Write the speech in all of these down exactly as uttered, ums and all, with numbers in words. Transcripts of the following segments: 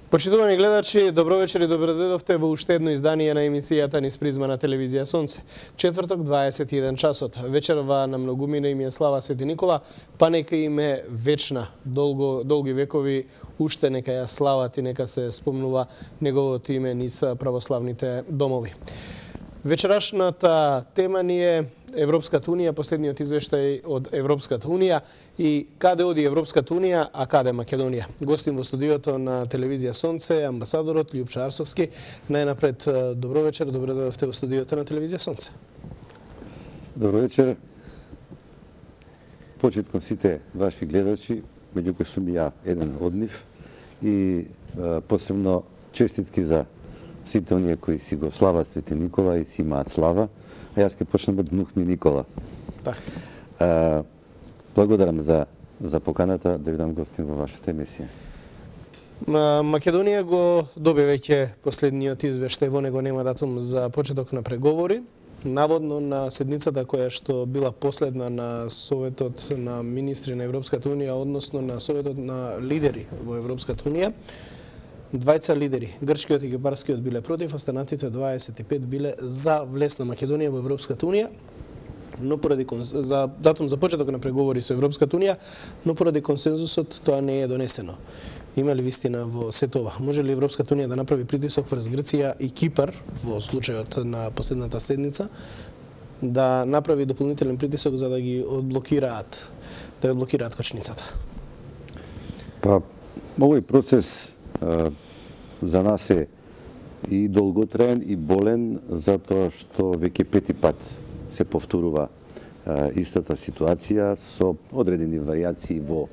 Почитувани гледачи, добро вечер и добро дојдовте во уште едно издание на емисијата низ призма на телевизија Сонце. Четврток, дваесет и еден часот. Вечерва на многумина им е слава Свети Никола, па нека им е вечна, долго, долги векови, уште нека ја слават и нека се спомнува неговото име низ православните домови. Вечерашната тема ни е Европската Унија, последниот извештај од Европската Унија и каде оди Европската Унија, а каде Македонија. Гостим во студиото на телевизија Сонце, амбасадорот Љупчо Арсовски. Најнапред, добро вечер, добро дојдовте во студиото на телевизија Сонце. Добро вечер. Почит кон сите ваши гледачи, меѓу кои сум ја еден од нив, и е, посебно честитки за сите оние кои си го слават Свети Никола и си имаат слава, а јас ќе почнем од внук ми Никола. Така. Благодарам за за поканата да бидам гостин во вашата емисија. Македонија го доби веќе последниот извештај, во него нема датум за почеток на преговори. Наводно на седницата која што била последна на Советот на министри на Европската Унија, односно на Советот на лидери во Европската Унија, двајца лидери, грчкиот и кипарскиот, биле против, останатите дваесет и пет биле за влез на Македонија во Европската Унија, но поради за датум за почеток на преговори со Европската Унија, но поради консензусот тоа не е донесено. Има ли вистина во сето ова? Може ли Европската Унија да направи притисок врз Грција и Кипар во случајот на последната седница, да направи дополнителен притисок за да ги одблокираат, да ја одблокираат кочницата? Па, овој процес а, за нас е и долготраен и болен, затоа што веќе пети пат се повторува а, истата ситуација со одредени варијации во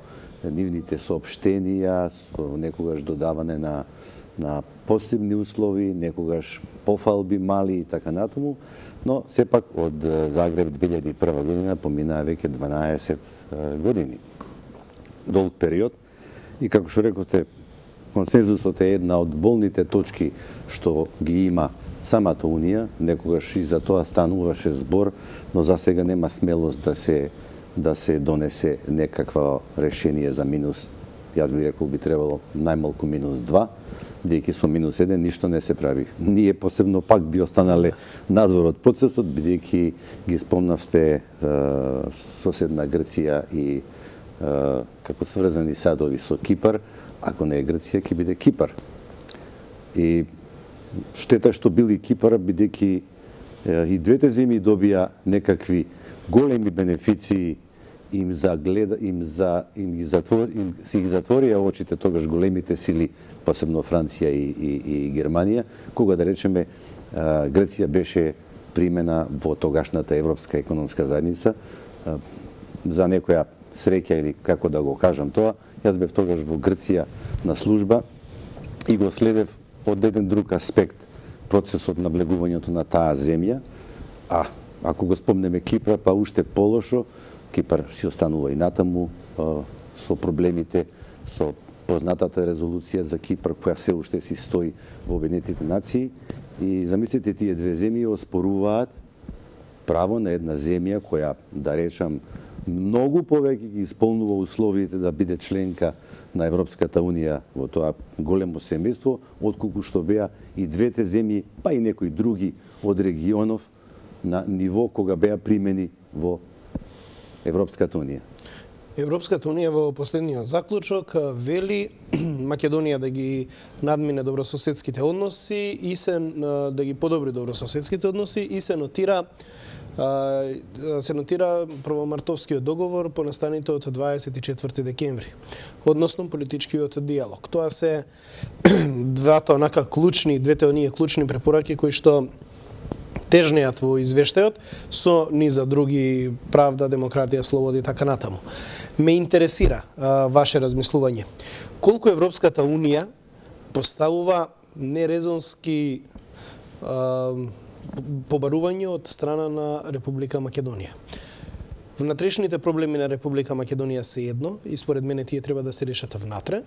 нивните соопштенија, со некогаш додаване на на посебни услови, некогаш пофалби мали и така натаму, но сепак од Загреб две илјади и прва година поминаа веќе дванаесет години. Долг период и како што рековте, консензусот е една од болните точки што ги има самата Унија, некогаш и за тоа стануваше збор, но за сега нема смелост да се да се донесе некакво решение за минус. Јас би рекол би требало најмалку минус два, бидејќи со минус еден ништо не се прави. Ние посебно пак би останале надвор од процесот, бидејќи ги спомнавте е, соседна Грција и е, како сврзани садови со Кипар. Ако не е Грција, ќе биде Кипар. И штета што били Кипар, бидејќи и двете земји добија некакви големи бенефиции, им загледа, им за им ги затвор, им си ги затворија очите тогаш големите сили, посебно Франција и, и, и Германија, кога да речеме Грција беше примена во тогашната Европска економска заедница. За некоја среќа или како да го кажам тоа, јас бев тогаш во Грција на служба и го следев од еден друг аспект процесот на влегувањето на таа земја, а ако го спомнеме Кипар, па уште полошо, Кипар си останува и натаму а, со проблемите, со познатата резолуција за Кипар, која се уште си стои во Обединетите нации. И замислите, тие две земји оспоруваат право на една земја која, да речам, многу повеќе ги исполнува условиите да биде членка на Европската Унија во тоа големо семејство, отколку што беа и двете земји, па и некои други од регионов на ниво кога беа примени во Европската Унија. Европската Унија во последниот заклучок вели Македонија да ги надмине добрососедските односи и се да ги подобри добрососедските односи и се нотира се нотира првомартовскиот договор по настаните од дваесет и четврти декември, односно политичкиот диалог. Тоа се двата онака клучни, двете оние клучни препораки кои што тежнеат во извештајот со низа други правда, демократија, слобода и така натаму. Ме интересира а, ваше размислување. Колку Европската Унија поставува нерезонски а, побарување од страна на Република Македонија? Внатрешните проблеми на Република Македонија се едно и според мене тие треба да се решат внатре,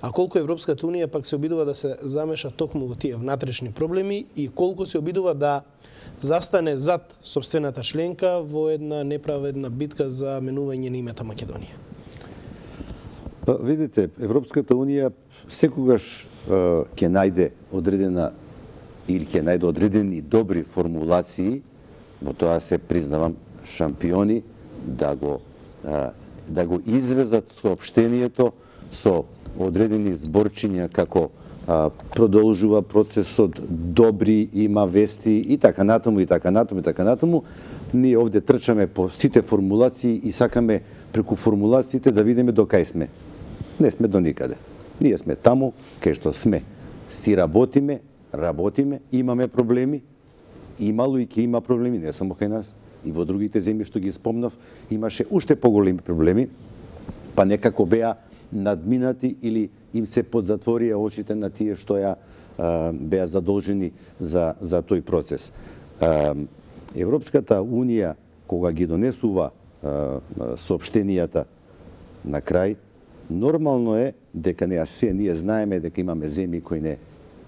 а колку Европската Унија пак се обидува да се замеша токму во тие внатрешни проблеми и колку се обидува да застане зад собствената членка во една неправедна битка за менување на името Македонија? Па, видите, Европската унија секогаш ќе најде одредена или ќе најде одредени добри формулации, во тоа се признавам шампиони, да го да го извезат соопштението со одредени зборчиња како а, продолжува процесот, добри, има вести и така натаму, и така натаму, и така натаму. Ние овде трчаме по сите формулации и сакаме преку формулациите да видиме до кај сме. Не сме до никаде. Ние сме таму кај што сме. Си работиме, работиме, имаме проблеми, имало и ќе има проблеми, не само кај нас. И во другите земји што ги спомнав, имаше уште поголеми проблеми, па некако беа надминати или им се подзатворија очите на тие што ја а, беа задолжени за, за тој процес. А, Европската унија, кога ги донесува а, соопштенијата на крај, нормално е дека не се ние знаеме дека имаме земји кои не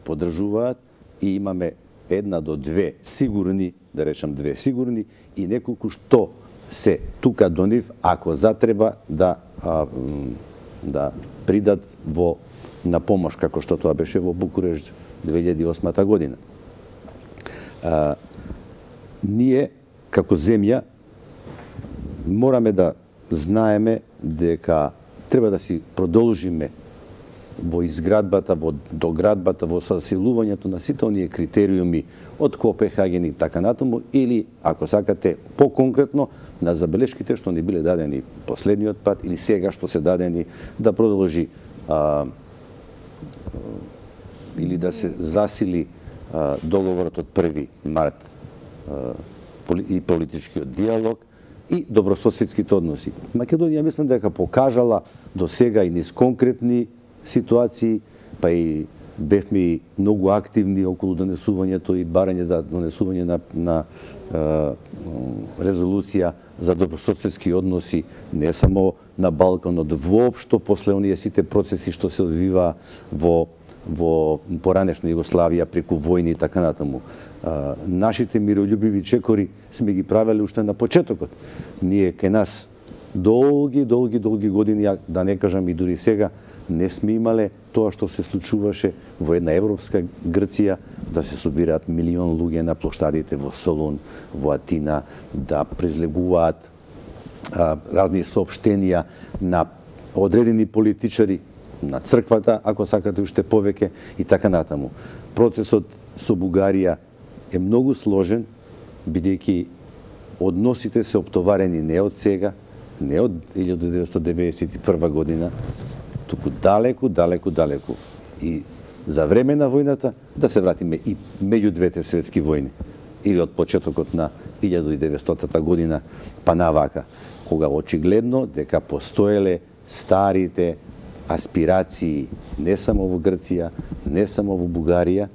поддржуваат и имаме една до две сигурни, да речам две сигурни, и неколку што се тука до нив, ако затреба да а, да придат во на помош, како што тоа беше во Букурешт две илјади и осма година. А, ние, како земја, мораме да знаеме дека треба да си продолжиме во изградбата, во доградбата, во засилувањето на сите оние критериуми од Копенхаген и така натаму, или, ако сакате, по-конкретно, на забелешките што ни биле дадени последниот пат или сега што се дадени да продолжи а, или да се засили а, договорот од први март а, и политичкиот диалог и добрососедските односи. Македонија мислам дека покажала до сега и низ конкретни ситуации, па и бевме многу активни околу донесувањето и барање за донесување на, на е, резолуција за добрососедски односи не само на Балканот, воопшто после оние сите процеси што се одвива во во поранешна Југославија преку војни и така натаму. А, нашите мирољубиви чекори сме ги правеле уште на почетокот. Ние кај нас долги, долги, долги години, да не кажам и дури сега, не сме имале тоа што се случуваше во една европска Грција, да се собираат милион луѓе на плоштадите во Солун, во Атина, да презлегуваат а, разни соопштенија на одредени политичари, на црквата, ако сакате уште повеќе, и така натаму. Процесот со Бугарија е многу сложен, бидејќи односите се оптоварени не од сега, не од илјада деветстотини деветдесет и прва година, туку далеку, далеку, далеку. И за време на војната да се вратиме и меѓу двете светски војни, или од почетокот на илјада деветстотина година па навака, кога очигледно дека постоеле старите аспирации не само во Грција, не само во Бугарија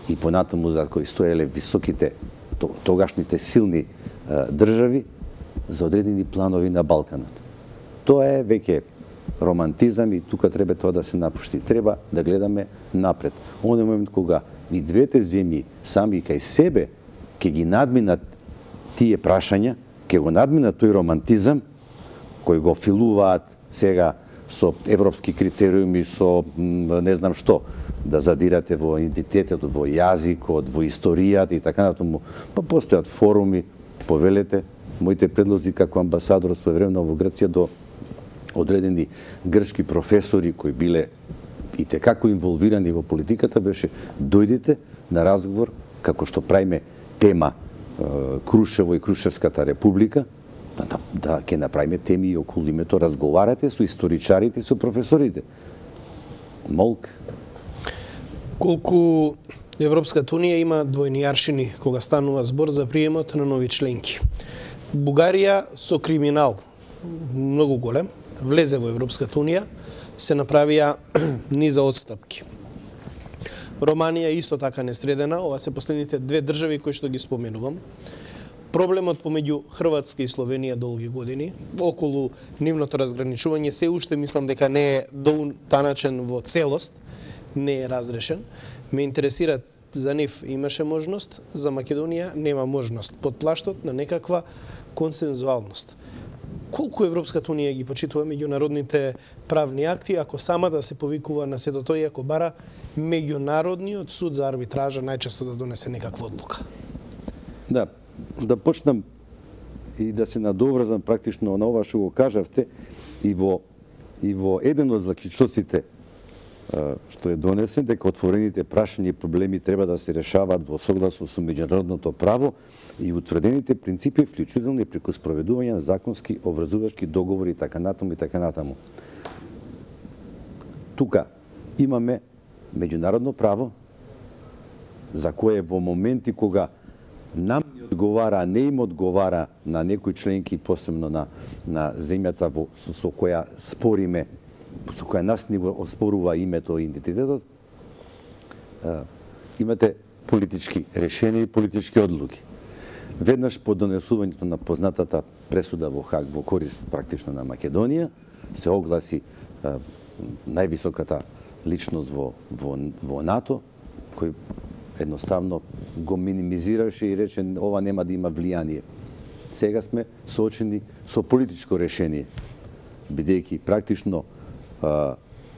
и понатаму за кои стоеле високите, тогашните силни е, држави за одредени планови на Балканот. Тоа е веќе романтизам и тука треба тоа да се напушти. Треба да гледаме напред. Оној момент кога и двете земји сами кај себе ќе ги надминат тие прашања, ќе го надминат тој романтизам кој го филуваат сега со европски критериуми, со не знам што, да задирате во идентитетот, во јазикот, во историјата и така натаму. Па постојат форуми, повелете, моите предлози како амбасадор своевремено во Грција до одредени грчки професори кои биле и текако инволвирани во политиката беше дојдите на разговор како што правиме тема Крушево и Крушевската република, да, да ќе направиме теми и околу името, разговарате со историчарите и со професорите. Молк. Колку Европската унија има двојни аршини кога станува збор за приемот на нови членки. Бугарија со криминал многу голем влезе во Европската унија, се направија низа одстапки. Романија исто така несредена, ова се последните две држави кои што ги споменувам. Проблемот помеѓу Хрватска и Словенија долги години, околу нивното разграничување, се уште мислам дека не е дотаначен во целост, не е разрешен. Ме интересира за нив имаше можност, за Македонија нема можност, под плаштот на некаква консензуалност. колку Европската унија ги почитува меѓународните правни акти, ако сама да се повикува на сето тој, ако бара меѓународниот суд за арбитража најчесто да донесе некаква одлука? Да, да почнам и да се надоврзам практично на ова што го кажавте и во и во еден од заклучоците што е донесен, дека отворените прашања и проблеми треба да се решаваат во согласност со меѓународното право и утврдените принципи, вклучително и преку спроведување на законски обврзувачки договори и така натаму и така натаму. Тука имаме меѓународно право за кое во моменти кога нам не одговара, а не им одговара на некои членки, посебно на, на земјата во, со, со која спориме, со која нас не го оспорува името и идентитетот, имате политички решенија и политички одлуки. Веднаш по донесувањето на познатата пресуда во Хаг во корист практично на Македонија, се огласи а, највисоката личност во, во, во НАТО, кој едноставно го минимизираше и рече ова нема да има влијание. Сега сме соочени со политичко решение, бидејќи практично а,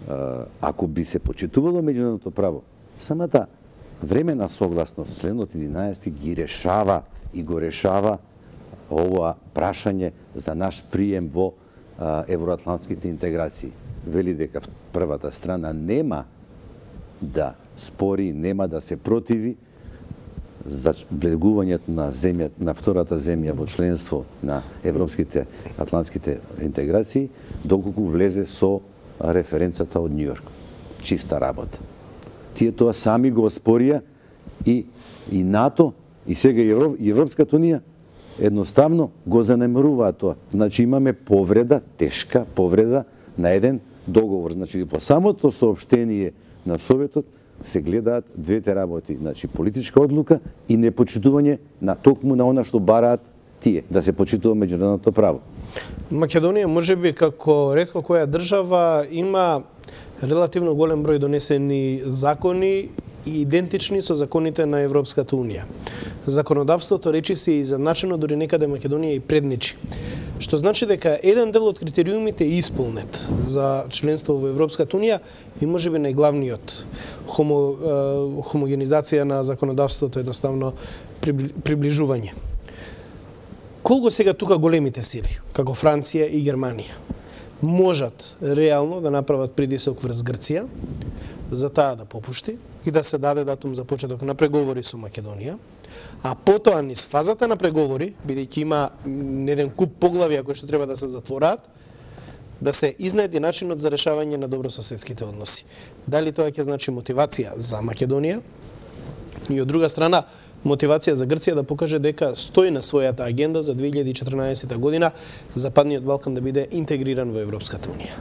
а, ако би се почитувало меѓународното право, самата времена согласност, членот единаесети ги решава и го решава ова прашање за наш прием во а, евроатлантските интеграции. Вели дека првата страна нема да спори, нема да се противи за влегувањето на земја, на втората земја во членство на европските атлантските интеграции, доколку влезе со референцата од Њујорк. Чиста работа. Тие тоа сами го оспорија и и НАТО и сега и Европската унија едноставно го занемаруваат тоа. Значи имаме повреда, тешка повреда на еден договор. Значи по самото соопштение на Советот се гледаат двете работи, значи политичка одлука и непочитување на токму на она што бараат тие, да се почитува меѓународното право. Македонија можеби како ретко која држава има релативно голем број донесени закони и идентични со законите на Европската унија. Законодавството речиси и задначено, дури некаде Македонија и предничи. Што значи дека еден дел од критериумите е исполнет за членство во Европската унија и можеби најглавниот хомо, хомогенизација на законодавството, едноставно приближување. Колку сега тука големите сили, како Франција и Германија, можат реално да направат притисок врз Грција за таа да попушти и да се даде датум за почеток на преговори со Македонија, а потоа низ фазата на преговори, бидејќи има еден куп поглавија кои што треба да се затвораат, да се изнајде начинот за решавање на добрососедските односи. Дали тоа ќе значи мотивација за Македонија и од друга страна мотивација за Грција да покаже дека стои на својата агенда за две илјади и четрнаесета година Западниот Балкан да биде интегриран во Европската унија.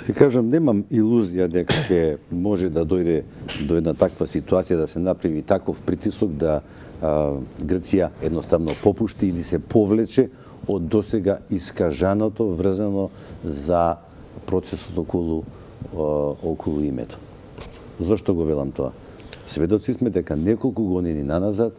Да кажам, немам илузија дека ќе може да дојде до една таква ситуација, да се направи таков притисок да а, Грција едноставно попушти или се повлече од досега искажаното врзано за процесот околу а, околу името. Зошто го велам тоа? Сведоци сме дека неколку години наназад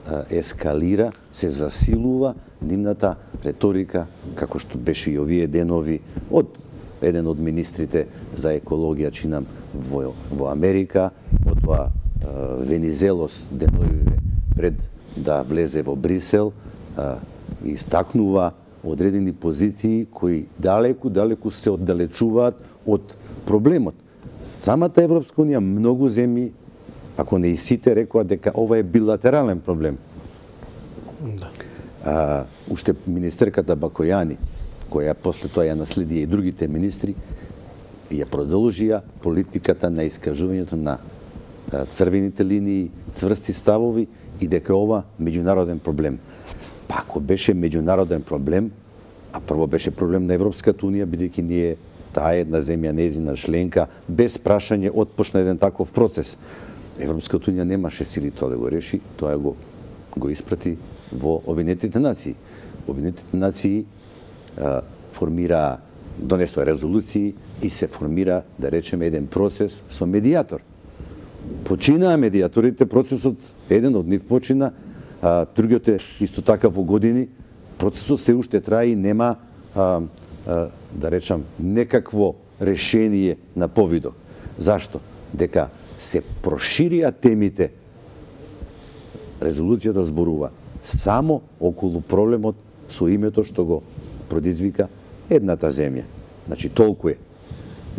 а, ескалира, се засилува нивната реторика, како што беше и овие денови од еден од министрите за екологија, чинам, во, во Америка, потоа Венизелос денови пред да влезе во Брисел, а, истакнува одредени позиции кои далеку, далеку се оддалечуваат од проблемот. Самата Европска унија, многу земји, ако не и сите, рекоа дека ова е билатерален проблем. Да. А, уште министерката Бакојани, која после тоа ја наследија и другите министри, ја продолжија политиката на искажувањето на црвените линии, цврсти ставови и дека ова меѓународен проблем. Па ако беше меѓународен проблем, а прво беше проблем на Европската унија, бидејќи ние таа една земја нејзина членка, без прашање отпочна еден таков процес. Европската унија немаше сили тоа да го реши, тоа го го испрати во Обединетите нации. Обединетите нации формира, донесува резолуции и се формира, да речеме, еден процес со медијатор. Починаа медијаторите, процесот, еден од нив почина, а другиот е исто така во години, процесот се уште трае и нема а, а, да речам, некакво решение на повидок. Зашто? Дека се проширија темите, резолуцијата зборува само околу проблемот со името што го предизвика едната земја. Значи, толку е.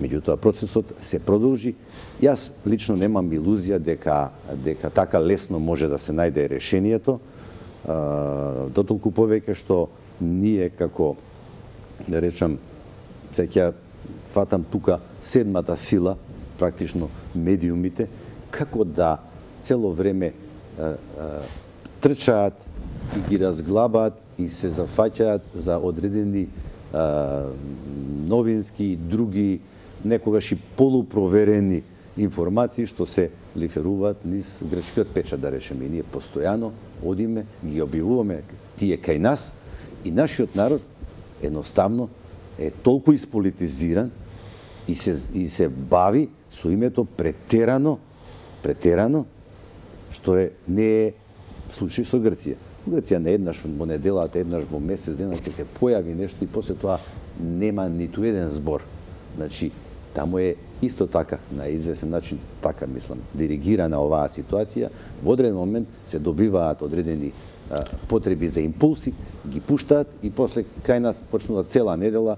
Меѓутоа, процесот се продолжи. Јас лично немам илузија дека, дека така лесно може да се најде решението, дотолку повеќе што ние како, да речам, сега фатам тука седмата сила, практично медиумите, како да цело време а, а, трчаат и ги разглабаат и се зафаќаат за одредени а, новински и други, некогаш и полупроверени информации што се лиферуваат низ грчкиот печат, да речеме. И ние постојано одиме, ги објавуваме тие кај нас и нашиот народ едноставно е толку исполитизиран и се, и се бави со името претерано, претерано, што е, не е случај со Грција. Грција не еднаш во неделата, еднаш во месец дена ќе се појави нешто и после тоа нема ниту еден збор. Значи, таму е исто така, на известен начин, така мислам, диригирана оваа ситуација. Во одреден момент се добиваат одредени а, потреби за импулси, ги пуштаат и после кај нас почнува цела недела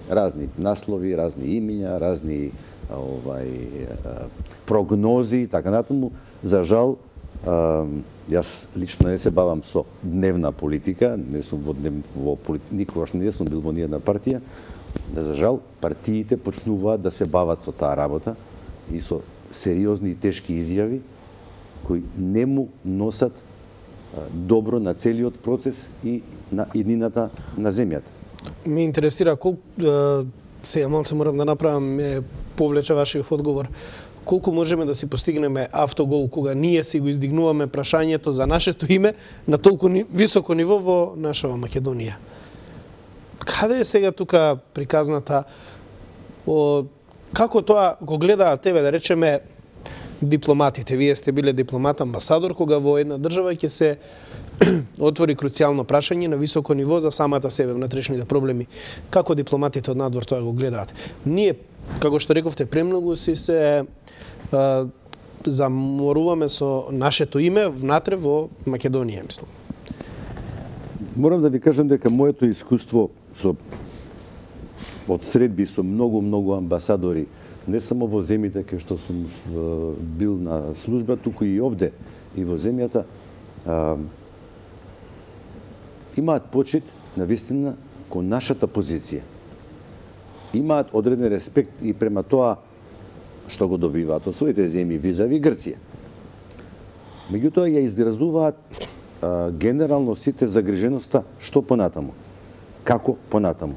разни наслови, разни имиња, разни а, овај а, прогнози и така натаму. За жал, а, јас лично не се бавам со дневна политика, не сум во, днев, во никогаш не сум бил во ниједна партија. За жал, партиите почнуваат да се бават со таа работа и со сериозни и тешки изјави кои не му носат добро на целиот процес и на иднината на земјата. Ме интересира колку сега малце морам да направам, ме повлече вашиот одговор. Колку можеме да си постигнеме автогол кога ние си го издигнуваме прашањето за нашето име на толку високо ниво во нашава Македонија? Каде е сега тука приказната о како тоа го гледаат тебе, да речеме, дипломатите? Вие сте биле дипломат, амбасадор, кога во една држава ќе се отвори круцијално прашање на високо ниво за самата себе, внатрешните проблеми. Како дипломатите од надвор тоа го гледаат? Ние, како што рековте, премногу си се а, заморуваме со нашето име внатре во Македонија, мислам. Морам да ви кажам дека моето искуство со од средби со многу многу амбасадори, не само во земјите кај што сум бил на служба, туку и овде и во земјата, а, имаат почит на вистина кон нашата позиција. Имаат одреден респект и према тоа што го добиваат од своите земји визави Грција. Меѓутоа ја изразуваат а, генерално сите загриженоста што понатаму. Како понатаму?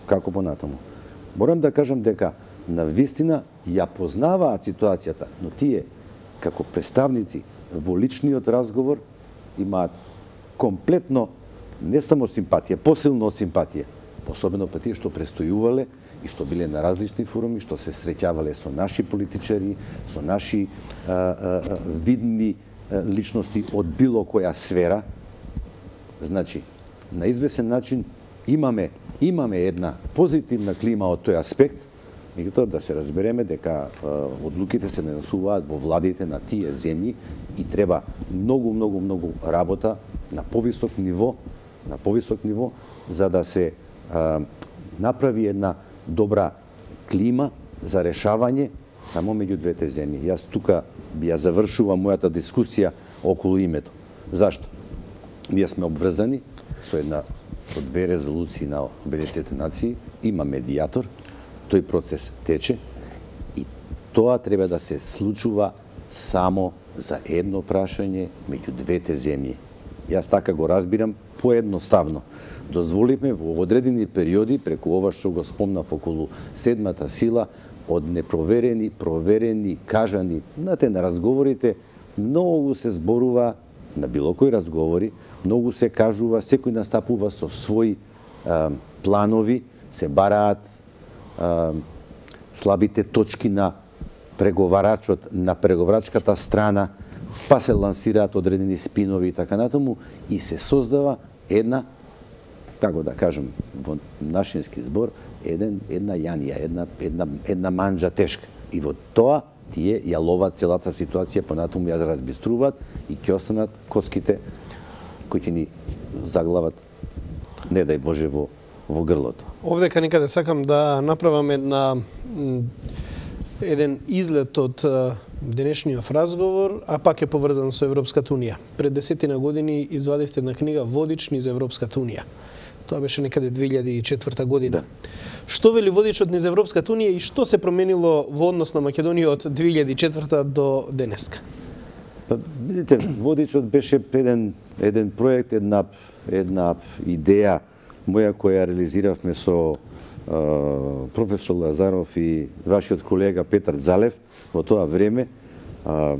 Како понатаму? Морам да кажам дека на вистина ја познаваат ситуацијата, но тие како представници во личниот разговор имаат комплетно не само симпатија, посилно од симпатија, особено па тие што престојувале и што биле на различни форуми, што се среќавале со наши политичари, со наши а, а, видни а, личности од било која сфера. Значи, на известен начин имаме имаме една позитивна клима од тој аспект, меѓутоа да се разбереме дека а, одлуките се нанесуваат во владите на тие земји и треба многу многу многу работа на повисок ниво, на повисок ниво за да се а, направи една добра клима за решавање само меѓу двете земји. Јас тука би ја завршувам мојата дискусија околу името. Зашто? Ние сме обврзани со една со две резолуции на Обединетите нации, има медијатор, тој процес тече и тоа треба да се случува само за едно прашање меѓу двете земји. Јас така го разбирам поедноставно. Дозволиме во одредени периоди, преку ова што го спомнав околу седмата сила, од непроверени, проверени, кажани, знаете, на разговорите, многу се зборува, на било кој разговори, многу се кажува, секој настапува со своји а, планови, се бараат а, слабите точки на преговарачот, на преговарачката страна, па се лансираат одредени спинови и така натаму, и се создава една како да кажем, во нашински збор, еден, една јанија, една, една, една манџа тешка. И во тоа тие ја ловат целата ситуација, понатаму ја разбиструваат и ќе останат коцките кои ќе ни заглават, не дај Боже, во, во грлото. Овде некаде сакам да направам една еден излет од денешниот разговор, а пак е поврзан со Европската Унија. Пред десетина години извадивте една книга Водич низ Европската Унија. Тоа беше некаде две илјади и четврта година. Да. Што вели водичот низ Европската Унија и што се променило во однос на Македонија од две илјади и четврта до денеска? Па, видите, водичот беше еден, еден проект, една, една идеја моја која реализиравме со а, професор Лазаров и вашиот колега Петар Залев во тоа време, а,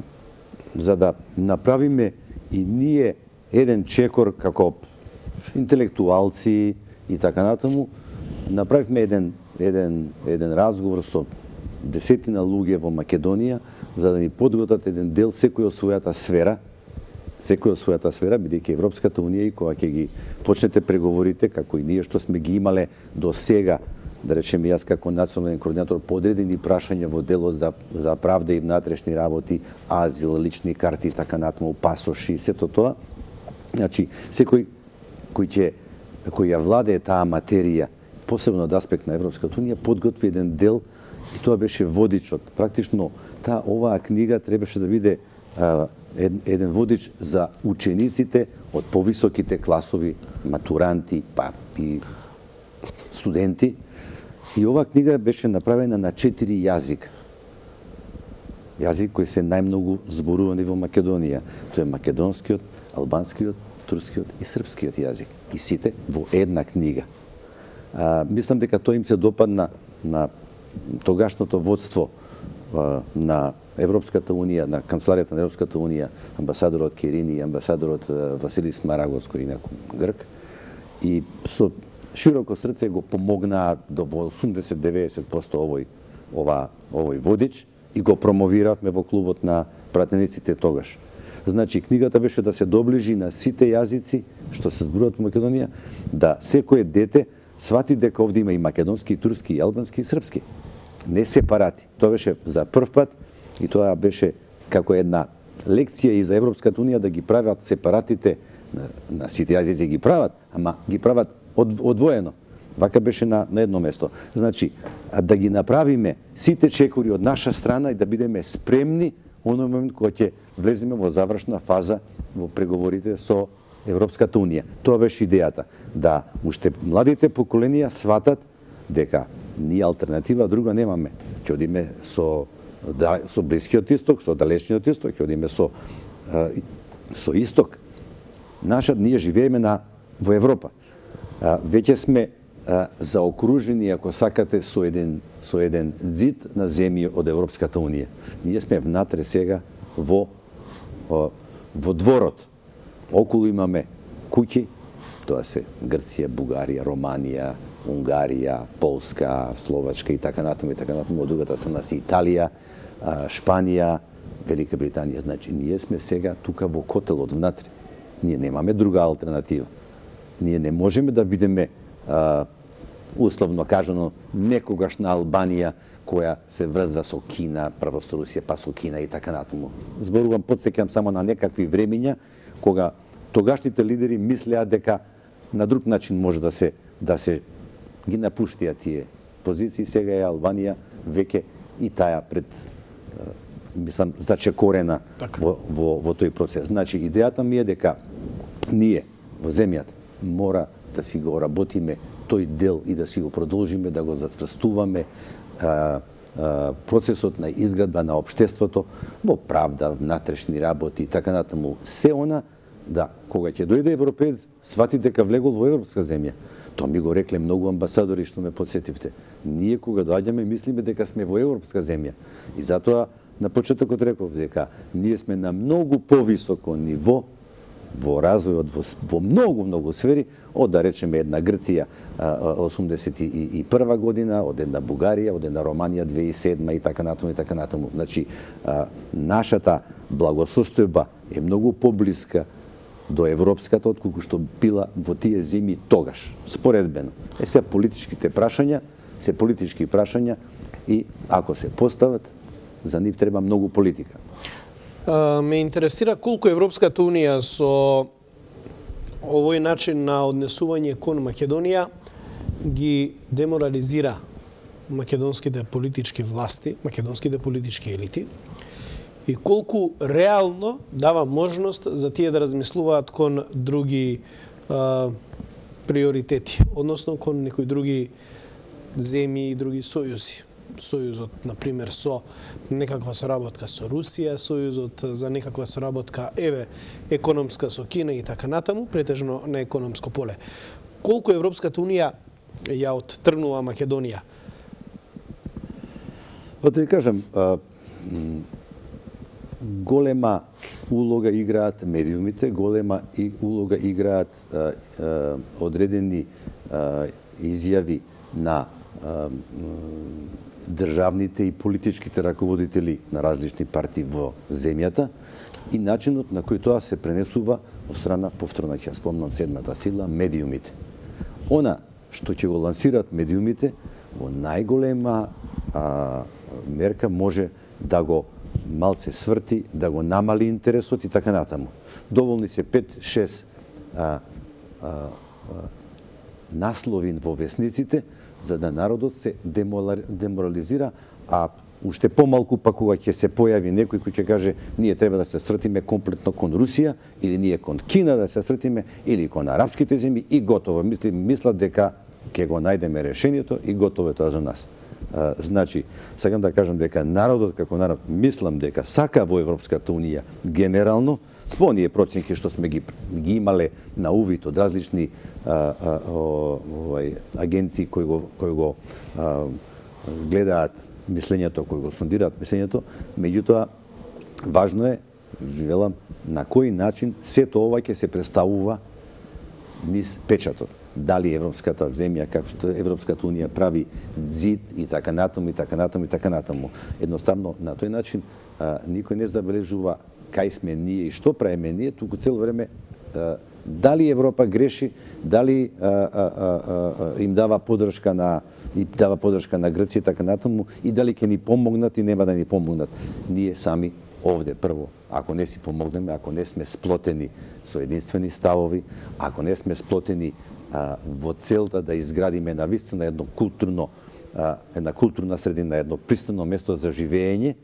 за да направиме и ние еден чекор како интелектуалци и така натаму, направивме еден, еден, еден разговор со десетина луѓе во Македонија, за да ни подготват еден дел секој од својата сфера, секој од својата сфера, бидејќи Европската Унија и кога ќе ги почнете преговорите, како и ние што сме ги имале до сега, да речеме јас како национален координатор, подредени прашања во делот за, за правда и внатрешни работи, азил, лични карти и така натаму, пасоши, сето тоа. Значи, секој кој ќе кој ја владее таа материја, посебно од аспект на Европската Унија, подготви еден дел и тоа беше водичот. Практично таа оваа книга требаше да биде а, еден водич за учениците од повисоките класови, матуранти, па и студенти. И оваа книга беше направена на четири јазика. Јазик кои се најмногу зборувани во Македонија. Тоа е македонскиот, албанскиот, турскиот и српскиот јазик. И сите во една книга. А, мислам дека тоа им се допадна на тогашното водство а, на Европската Унија, на канцеларијата на Европската Унија, амбасадорот Керини и амбасадорот Василис Марагос, кој инаку грк, и со широко срце го помогнаа до осумдесет до деветдесет проценти овој ова овој водич и го промовиравме во клубот на пратениците тогаш. Значи, книгата беше да се доближи на сите јазици што се зборуваат во Македонија, да секое дете свати дека овде има и македонски, и турски, и албански, и српски. Не сепарати. Тоа беше за прв пат и тоа беше како една лекција и за Европската Унија да ги прават сепаратите на, на сите јазици ги прават, ама ги прават од, одвоено. Вака беше на, на едно место. Значи, да ги направиме сите чекори од наша страна и да бидеме спремни оној момент кога ќе влеземе во завршна фаза во преговорите со Европската Унија. Тоа беше идејата, да уште младите поколенија сватат дека ние алтернатива друга немаме. Ќе одиме со да, со Блискиот исток, со далечниот исток, ќе одиме со со исток. Наша ние живееме на во Европа. Веќе сме заокружени, ако сакате, со еден со еден зид на земји од Европската Унија. Ние сме внатре сега во во дворот. Околу имаме куќи, тоа се Грција, Бугарија, Романија, Унгарија, Полска, Словачка и така натаму и така натаму. Од другата страна се Италија, Шпанија, Велика Британија. Значи, ние сме сега тука во котелот внатре. Ние немаме друга алтернатива. Ние не можеме да бидеме а, условно кажано некогашна Албанија која се врза со Кина, прво со Русија, па со Кина и така натаму. Зборувам, потсеќам само на некакви времиња кога тогашните лидери мислеа дека на друг начин може да се да се ги напуштија тие позиции. Сега е Албанија веќе и таа пред мислам зачекорена во, во во тој процес. Значи идејата ми е дека ние во земјата мора да си го работиме тој дел и да си го продолжиме, да го зацврстуваме а, а, процесот на изградба на општеството во правда, внатрешни работи и така натаму. Се она да, кога ќе дојде европеец, свати дека влегол во европска земја. Тоа ми го рекле многу амбасадори што ме подсетивте. Ние кога доаѓаме мислиме дека сме во европска земја. И затоа на почетокот реков дека ние сме на многу повисоко ниво во развојот во, во многу многу сфери од да речеме една Грција осумдесет и прва година, од една Бугарија, од една Романија две илјади и седма и така натаму и така натаму. Значи нашата благосостојба е многу поблиска до европската отколку што била во тие земји тогаш, споредбено. Е се политичките прашања, се политички прашања и ако се постават, за нив треба многу политика. А, ме интересира колку Европската Унија со овој начин на однесување кон Македонија ги деморализира македонските политички власти, македонските политички елити, и колку реално дава можност за тие да размислуваат кон други а, приоритети, односно кон некои други земји и други сојузи. Сојузот, например, со некаква соработка со Русија, сојузот за некаква соработка, еве, економска со Кина и така натаму, претежно на економско поле. Колку Европската Унија ја оттргнува Македонија? Па да ви кажам, а, голема улога играат медиумите, голема и улога играат а, а, одредени а, изјави на а, државните и политичките раководители на различни партии во земјата и начинот на кој тоа се пренесува од страна, повторно ќе спомнам седмата сила, медиумите. Она што ќе го лансираат медиумите во најголема а, мерка може да го малце сврти, да го намали интересот и така натаму. Доволни се пет-шест а, а, а, наслови во весниците за да народот се деморализира, а уште помалку па кога ќе се појави некој кој ќе каже ние треба да се сртиме комплетно кон Русија или ние кон Кина да се сртиме или кон арапските земји и готово. Мисли, мислат дека ќе го најдеме решението и готово е тоа за нас. А, значи, сакам да кажам дека народот како народ мислам дека сака во Европската Унија генерално, со оние проценки што сме ги, ги имале на увид од различни а, а, о, овај, агенции кои го, кои го а, гледаат мислењето, кои го сондираат мислењето, меѓутоа важно е, велам, на кој начин сето ова ќе се представува низ печатот. Дали европската земја, како што Европската Унија прави зид и така натаму, и така натаму, и така натаму. Едноставно, на тој начин а, никој не забележува кај сме ние и што правиме ние, туку цело време а, дали Европа греши, дали а, а, а, а, им дава поддршка на и дава поддршка на Грција и така натаму, и дали ќе ни помогнат и нема да ни помогнат. Ние сами овде прво, ако не си помогнеме, ако не сме сплотени со единствени ставови, ако не сме сплотени а, во целта да изградиме навистина едно културно а, една културна средина, едно пристано место за живење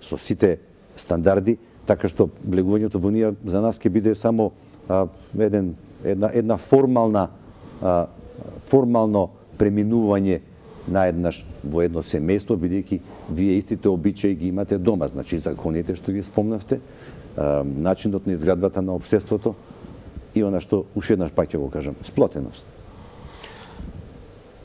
со сите стандарди, така што влегувањето во Унија за нас ќе биде само а, еден, една, една формална а, формално преминување наеднаш во едно семејство, бидејќи вие истите обичаи ги имате дома, значи законите што ги спомнавте, а, начинот на изградбата на општеството и она што уште еднаш пак ќе го кажам, сплотеност.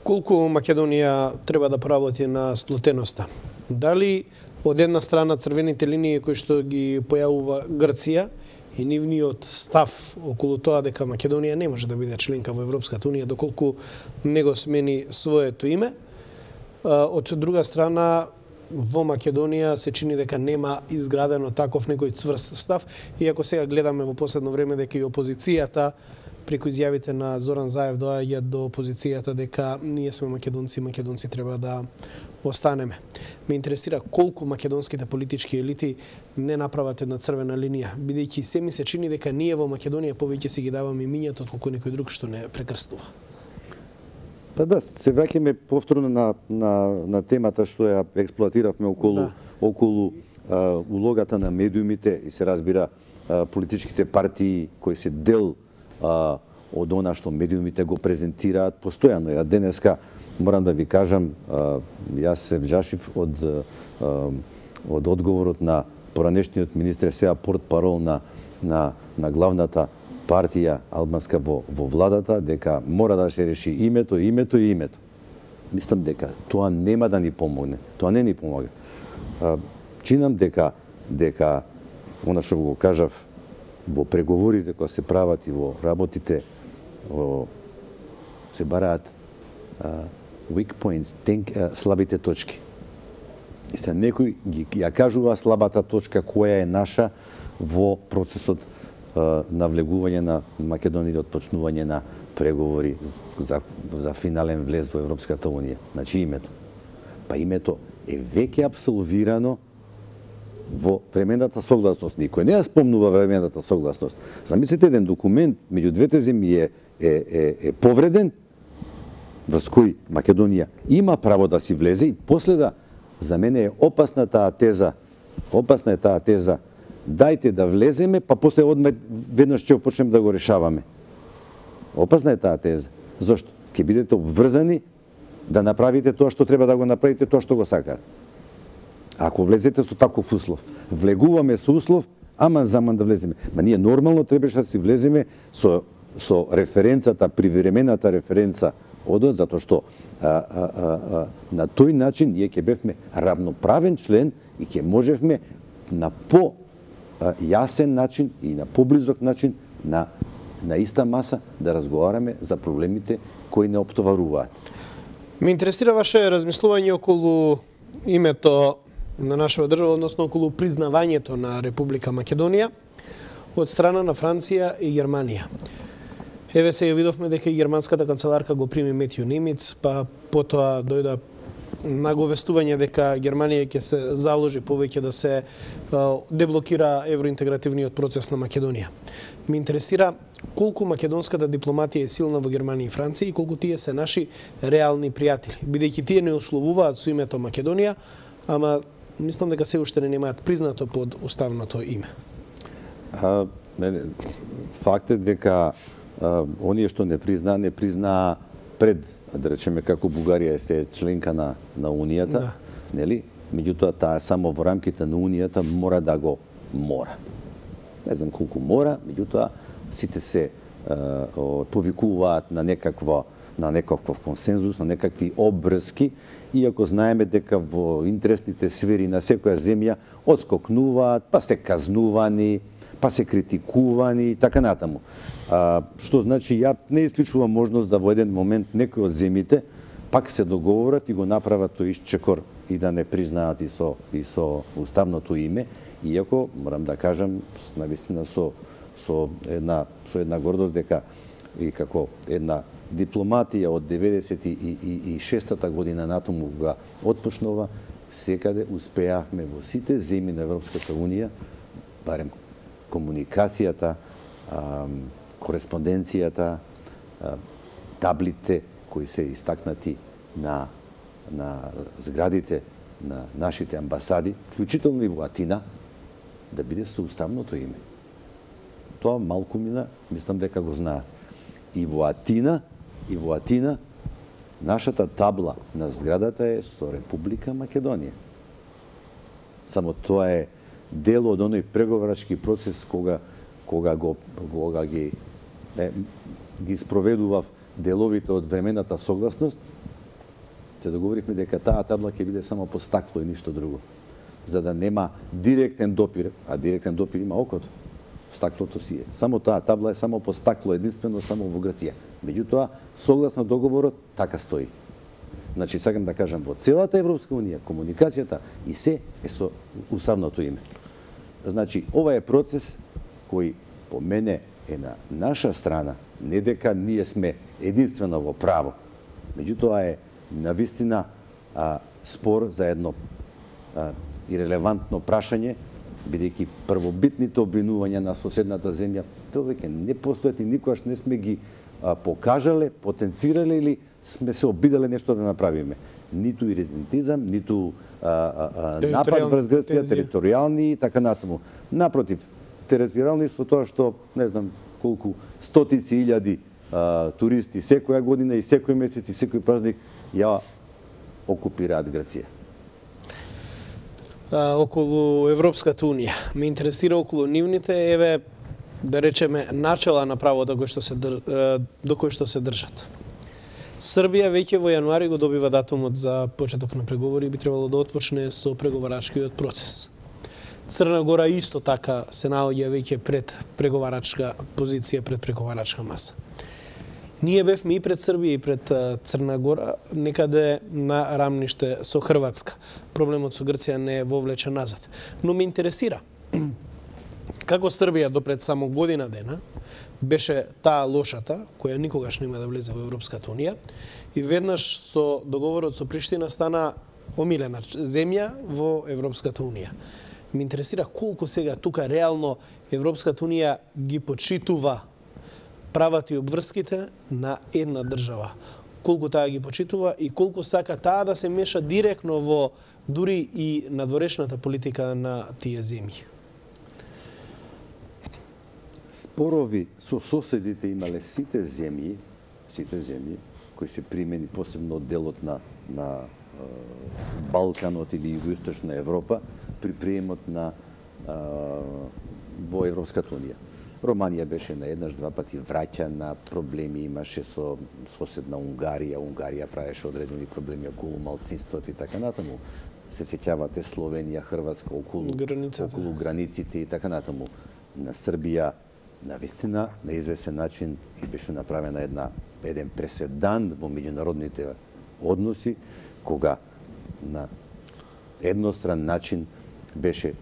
Колку Македонија треба да поработи на сплотеноста? Дали од една страна црвените линии кои што ги појавува Грција и нивниот став околу тоа дека Македонија не може да биде членка во Европската Унија доколку не го смени своето име. Од друга страна, во Македонија се чини дека нема изградено таков некој цврст став, иако сега гледаме во последно време дека и опозицијата преку изјавите на Зоран Заев доаѓа до опозицијата дека ние сме македонци, македонци треба да останеме. Ме интересира колку македонските политички елити не направат една црвена линија, бидејќи се ми се чини дека ние во Македонија повеќе си ги даваме имињата отколку некој друг што не прекрстува. Па да, се враќаме повторно на, на, на темата што ја експлоатиравме околу, да. околу а, улогата на медиумите и се разбира а, политичките партии кои се дел а, од она што медиумите го презентираат постојано. Ја денеска морам да ви кажам, а, јас се вжашив од, а, од одговорот на поранешниот министр, сега портпарол на, на, на главната партија албанска во, во владата, дека мора да се реши името, името и името. Мислам дека тоа нема да ни помогне. Тоа не ни помага. А, чинам дека, дека, она што го кажав, во преговорите кои се прават и во работите, во, се бараат а, weak points, тенк, а, слабите точки. И се некој ги ја кажува слабата точка која е наша во процесот навлегување на Македонија, отпочнување на преговори за, за финален влез во Европската Унија. Значи името. Па името е веќе абсолвирано во времената согласност. Никој не ја спомнува времената согласност. Замислите, еден документ меѓу двете земји е, е, е, е повреден, врз кој Македонија има право да си влезе, и после да, за мене е опасна таа теза, опасна е таа теза, дајте да влеземе, па после одме веднаш ќе почнем да го решаваме. Опасна е таа теза. Зошто? Ќе бидете обврзани да направите тоа што треба да го направите, тоа што го сакаат. Ако влезете со таков услов, влегуваме со услов, ама заман да влеземе. Ма ние нормално требаше да си влеземе со, со референцата, привремената референца одон, затоа што а, а, а, а, на тој начин ние ќе бевме равноправен член и ќе можевме на по јасен начин и на поблизок начин на, на иста маса да разговараме за проблемите кои не оптоваруваат. Ме интересира ваше размислување околу името на нашава држава, односно околу признавањето на Република Македонија од страна на Франција и Германија. Еве се ја видовме дека и германската канцеларка го прими Метју Нимиц, па потоа дојда наговестување дека Германија ќе се заложи повеќе да се деблокира евроинтегративниот процес на Македонија. Ме интересира колку македонската дипломатија е силна во Германија и Франција и колку тие се наши реални пријатели, бидејќи тие не условуваат со името Македонија, ама мислам дека се уште не немаат признато под уставното име. А, не, факт е дека а, оние што не признаа, не признаа пред, да речеме, како Бугарија се членка на, на Унијата, да. Нели? Меѓутоа, таа само во рамките на Унијата мора да го мора. Не знам колку мора, меѓутоа, сите се а, повикуваат на некаква на некаков консензус, на некакви обврски, иако знаеме дека во интересните сфери на секоја земја одскокнуваат, па се казнувани, па се критикувани и така натаму. А, што значи, ја не исклучувам можност да во еден момент некои од земите пак се договорат и го направат тој исчекор и да не признаат и со, и со уставното име, иако, морам да кажам, навистина со, со, една, со една гордост дека и како една дипломатија од деветдесет и шестата година натаму кога отпочнува, секаде успеавме во сите земји на Европската Унија, барем комуникацијата, кореспонденцијата, таблите кои се истакнати на, на зградите на нашите амбасади, вклучително и во Атина, да биде со уставното име. Тоа малку мина, мислам дека го знаат. И во Атина, и во Атина, нашата табла на зградата е со Република Македонија. Само тоа е дел од оној преговарачки процес кога кога го кога ги е, ги спроведував деловите од времената согласност, се договоривме дека таа табла ќе биде само по стакло и ништо друго, за да нема директен допир, а директен допир има окото. Стаклото си е. Само таа табла е само по стакло, единствено само во Грција. Меѓутоа, согласно договорот, така стои. Значи, сакам да кажам, во целата Европска Унија, комуникацијата и се е со уставното име. Значи, ова е процес кој по мене е на наша страна, не дека ние сме единствено во право. Меѓутоа е навистина а, спор за едно а, ирелевантно прашање, бидејќи првобитните обвинувања на соседната земја повеќе не постојат и никогаш не сме ги а, покажале, потенцирале или сме се обидале нешто да направиме. Ниту иридентизам, ниту а, а, а, напад врз Грција, територијални и така натаму. Напротив, територијални со тоа што, не знам колку, стотици илјади а, туристи секоја година и секој месец и секој празник ја окупираат Грција. Околу Европската Унија. Ме интересира околу нивните, еве, да речеме, начела на правото кој што се др... до кој што се држат. Србија веќе во јануари го добива датумот за почеток на преговори и би требало да отпочне со преговарачкиот процес. Црна Гора исто така се наоѓа веќе пред преговарачка позиција, пред преговарачка маса. Ние бевме и пред Србија и пред Црна Гора некаде на рамниште со Хрватска. Проблемот со Грција не е вовлечен назад. Но ме интересира како Србија допред само година дена беше таа лошата, која никогаш нема да влезе во Европската унија, и веднаш со договорот со Приштина стана омилена земја во Европската унија. Ме интересира колку сега тука реално Европската унија ги почитува правата и обврските на една држава. Колку таа ги почитува и колку сака таа да се меша директно во дури и надворешната политика на тие земји. Спорови со соседите имале сите земји, сите земји кои се примени посебно од делот на на Балканот или Југоисточна Европа при приемот на а, во Европската унија. Романија беше на еднаш два пати враќана, проблеми имаше со соседна Унгарија, Унгарија правеше одредени проблеми околу малцинството и така натаму. Се сеќавате Словенија, Хрватска околу границите, околу границите и така натаму. На Србија на вистина на известен начин и беше направена една еден преседан во меѓународните односи кога на едностран начин беше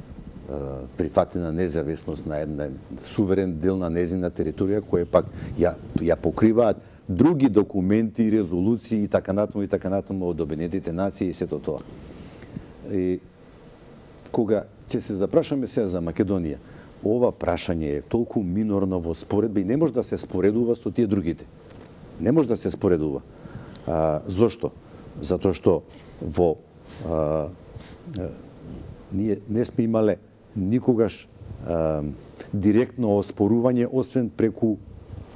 прифатена независност на една суверен дел на незина територија, која пак ја, ја покриваат други документи, резолуции и така натаму и така натаму од Обединетите нации и сето тоа. И кога ќе се запрашаме сега за Македонија, ова прашање е толку минорно во споредба и не може да се споредува со тие другите. Не може да се споредува. А, зошто? Затоа што во а, а, ние не сме имале никогаш а, директно оспорување, освен преку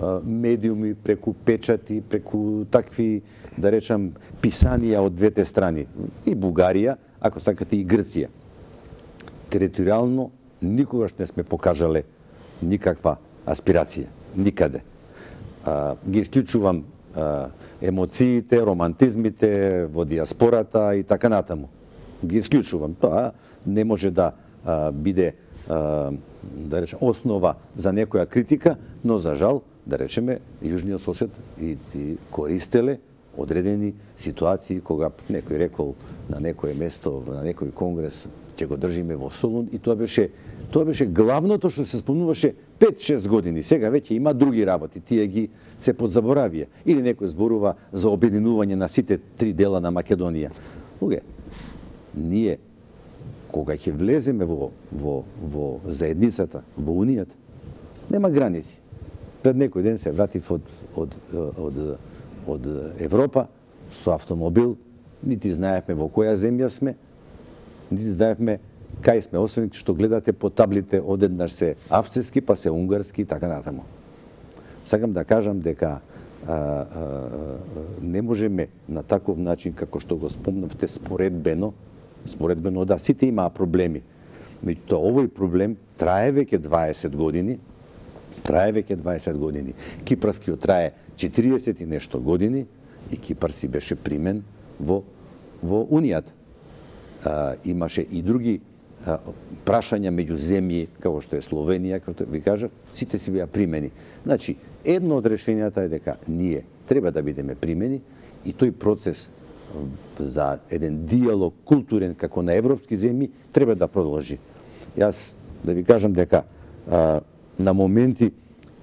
а, медиуми, преку печати, преку такви, да речам, писанија од двете страни. И Бугарија, ако сакате и Грција. Територијално никогаш не сме покажале никаква аспирација. Никаде. А, ги исклучувам а, емоциите, романтизмите во диаспората и така натаму. Ги исклучувам. Тоа не може да а, биде а, да речем основа за некоја критика, но за жал, да речеме, јужниот сосед и, и користеле одредени ситуации кога некој рекол на некое место, на некој конгрес ќе го држиме во Солун и тоа беше тоа беше главното што се спомнуваше пет-шест години. Сега веќе има други работи, тие ги се подзаборавија. Или некој зборува за обединување на сите три дела на Македонија. Луѓе, ние кога ќе влеземе во во во заедницата, во унијата, нема граници. Пред некој ден се вратив од од од од Европа со автомобил, нити знаевме во која земја сме, нити знаевме кај сме, освен што гледате по таблите одеднаш се австрийски, па се унгарски и така натаму. Сакам да кажам дека а, а, а, не можеме на таков начин како што го спомнавте споредбено, споредбено да сите имаа проблеми. Меѓутоа овој проблем трае веќе дваесет години, трае веќе дваесет години. Кипарскиот трае четириесет и нешто години и Кипар си беше примен во во унијата. А, имаше и други а, прашања меѓу земји, како што е Словенија, како што ви кажав, сите си беа примени. Значи, едно од решенијата е дека ние треба да бидеме примени и тој процес за еден диалог културен како на европски земји треба да продолжи. Јас да ви кажам дека а, на моменти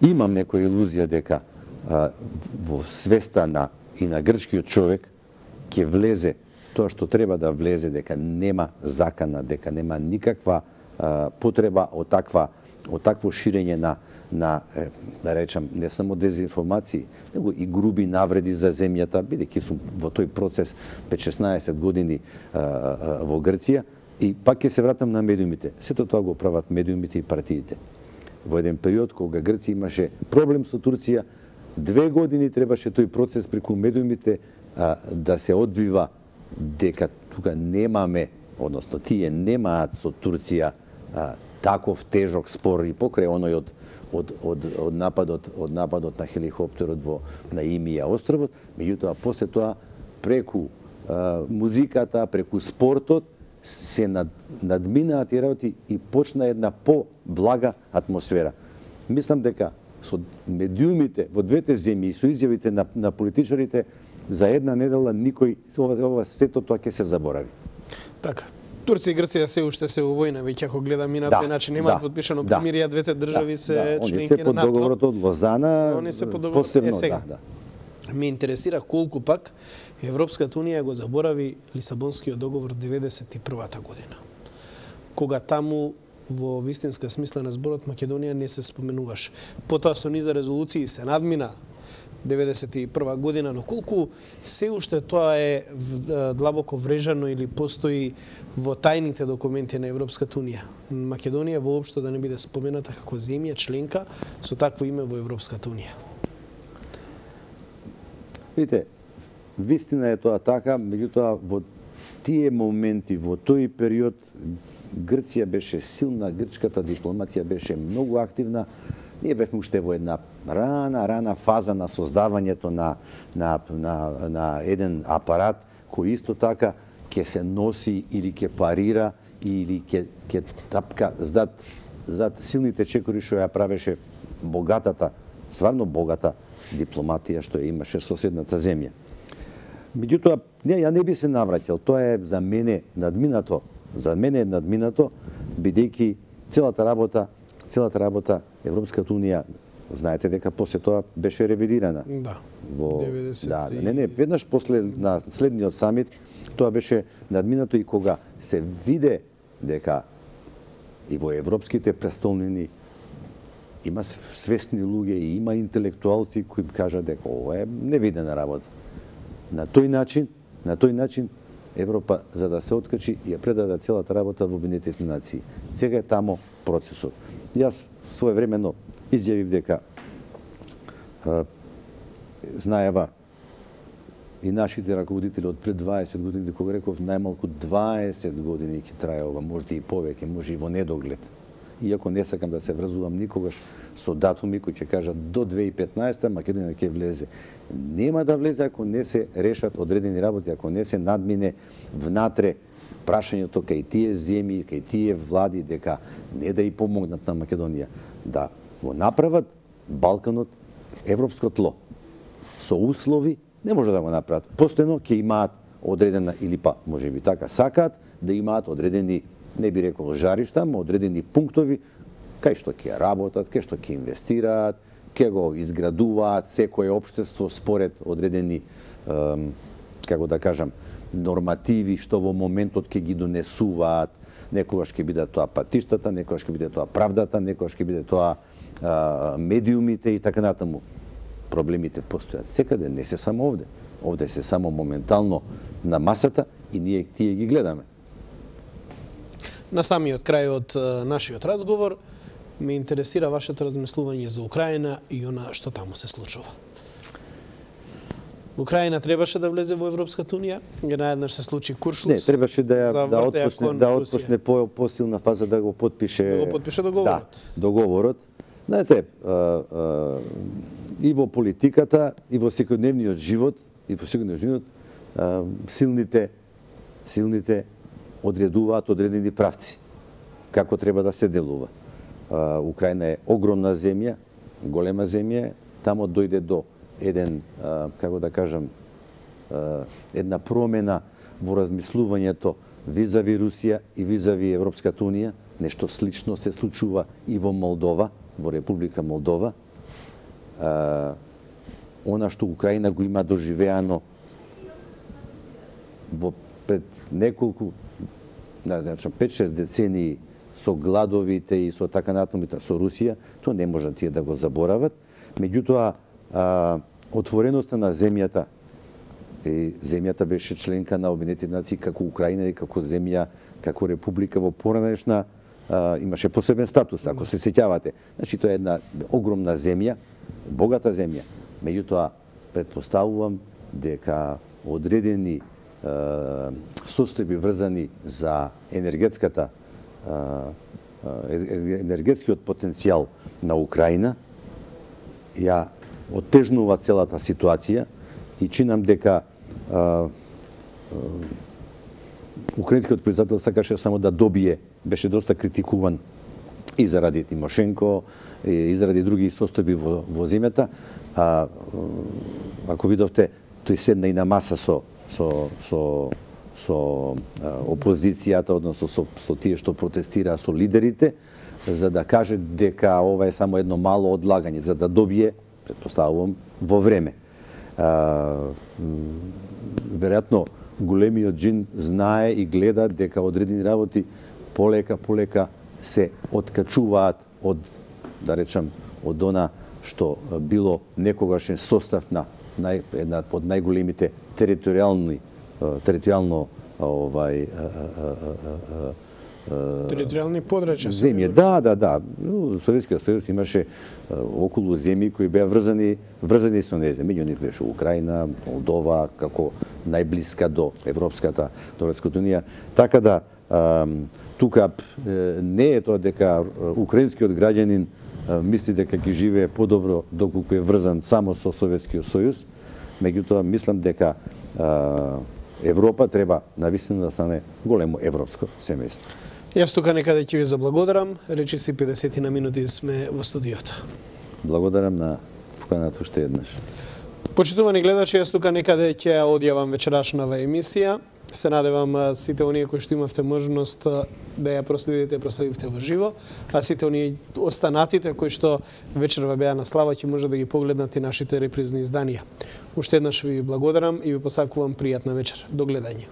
имам некоја илузија дека а, во свеста на и на грчкиот човек ќе влезе тоа што треба да влезе, дека нема закана, дека нема никаква а, потреба од таква од такво ширење на на е, да речам не само дезинформации, него и груби навреди за земјата, бидејќи сум во тој процес пет-шеснаесет години а, а, во Грција и пак ќе се вратам на медиумите. Сето тоа го прават медиумите и партиите. Во еден период кога Грција имаше проблем со Турција, две години требаше тој процес преку медиумите а, да се одвива дека тука немаме, односно тие немаат со Турција а, таков тежок спор и покрај оној од од од од нападот од нападот на хеликоптерот во на Имија островот, меѓутоа после тоа преку а, музиката, преку спортот се над, надминаа тие работи и почна една по-блага атмосфера. Мислам дека со медиумите во двете земји и со изјавите на, на политичарите за една недела никој ова, ова сето тоа ќе се заборави. Така. Турција и Грција се уште се во војна, веќе ако гледаме на тој начин немаат подпишано примирие, двете држави се членки на НАТО. Они се под договорот од Лозана, они се под договорот. посебно, е, сега. да, да. Ме интересира колку пак Европската унија го заборави Лисабонскиот договор деветдесет и првата година. Кога таму во вистинска смисла на зборот Македонија не се споменуваш. Потоа со низа резолуции се надмина деветдесет и прва година, но колку се уште тоа е длабоко врежано или постои во тајните документи на Европската унија. Македонија воопшто да не биде спомената како земја членка со такво име во Европската унија. Видите, вистина е тоа така, меѓутоа во тие моменти, во тој период, Грција беше силна, грчката дипломатија беше многу активна. Ние бевме уште во една рана, рана фаза на создавањето на, на, на, на еден апарат кој исто така ќе се носи или ќе парира или ќе, ќе тапка зад, зад силните чекори што ја правеше богатата, стварно богата дипломатија што ја имаше соседната земја. Меѓутоа, не, ја не би се навраќал, тоа е за мене надминато, за мене е надминато, бидејќи целата работа, целата работа Европската унија, знаете дека после тоа беше ревидирана. Да. Во деветдесет да, не, не, веднаш после на следниот самит тоа беше надминато и кога се виде дека и во европските престолнини има свесни луѓе и има интелектуалци кои кажат дека ова е невидена работа. На тој начин, на тој начин Европа, за да се откачи, ја предаде целата работа во Обединетите нации. Сега е тамо процесот. Јас своевремено изјавив дека а, знаева и нашите раководители од пред дваесет години, кога реков најмалку дваесет години ќе трае ова, може и повеќе, може и во недоглед. Иако не сакам да се врзувам никогаш со датуми кои ќе кажат до две илјади и петнаесета Македонија ќе влезе. Нема да влезе ако не се решат одредени работи, ако не се надмине внатре прашањето кај тие земји, кај тие влади дека не да и помогнат на Македонија да го направат Балканот европско тло. Со услови не може да го направат. Постојано ќе имаат одредена или па можеби така сакаат да имаат одредени, не би рекол жаришта, но одредени пунктови кај што ќе работат, кај што ќе инвестираат, ќе го изградуваат секое општество според одредени, ем, како да кажам, нормативи што во моментот ќе ги донесуваат. Некогаш ќе биде тоа патиштата, некогаш ќе биде тоа правдата, некогаш ќе биде тоа а, медиумите и така натаму. Проблемите постојат секаде, не се само овде. Овде се само моментално на масата и ние тие ги гледаме. На самиот крај од нашиот разговор ме интересира вашето размислување за Украина и она што таму се случува. Украина требаше да влезе во Европската унија, наеднаш се случи Куршлус. Не, требаше да ја да отпочне да отпочне по посилна фаза да го потпише да го потпише договорот. Да, договорот. Знаете, а, а, и во политиката, и во секојдневниот живот, и во секојдневниот живот а, силните силните одредуваат одредени правци како треба да се делува. А, Украина е огромна земја, голема земја, тамо дојде до еден, а, како да кажам, а, една промена во размислувањето визави Русија и визави Европската унија. Нешто слично се случува и во Молдова, во Република Молдова. А, она што Украина го има доживеано во пред неколку, значи пет-шест децении со гладовите и со така натаму со Русија, тоа не може тие да го заборават. Меѓутоа, а, отвореноста на земјата, и земјата беше членка на Обединетите нации како Украина и како земја, како република во поранешна, а, имаше посебен статус, ако се сеќавате. Значи, тоа е една огромна земја, богата земја. Меѓутоа, предпоставувам дека одредени а, состојби врзани за енергетската а, енергетскиот потенцијал на Украина ја оттежнува целата ситуација и чинам дека а, а, украинскиот председател сакаше само да добие, беше доста критикуван и заради Тимошенко, и заради други состојби во, во земјата. А, ако видовте, тој седна и на маса со, со, со, со опозицијата, односно со, со тие што протестира, со лидерите, за да каже дека ова е само едно мало одлагање, за да добие, предпоставувам, во време. А, веројатно, големиот джин знае и гледа дека одредени работи полека, полека се откачуваат од, да речам, од она што било некогашен состав на нај, една од најголемите територијални територијално овај територијални подрачја земји. Да, да, да. Советскиот сојуз имаше околу земји кои беа врзани врзани со незе. Меѓу нив беше Украина, Молдова, како најблиска до Европската, до Европската унија. Така да тука не е тоа дека украинскиот граѓанин мисли дека ќе живее подобро доколку е врзан само со Советскиот сојуз. Меѓутоа мислам дека Европа треба навистина да стане големо европско семејство. Јас тука некаде ќе ви заблагодарам. Речи си педесет на минути сме во студиото. Благодарам на поканата уште еднаш. Почитувани гледачи, јас тука некаде ќе одјавам вечерашнава емисија. Се надевам сите оние кои што имавте можност да ја проследите, проследивте во живо, а сите оние останатите кои што вечерва беа на слава ќе може да ги погледнат и нашите репризни изданија. Уште еднаш ви благодарам и ви посакувам пријатна вечер. До гледање.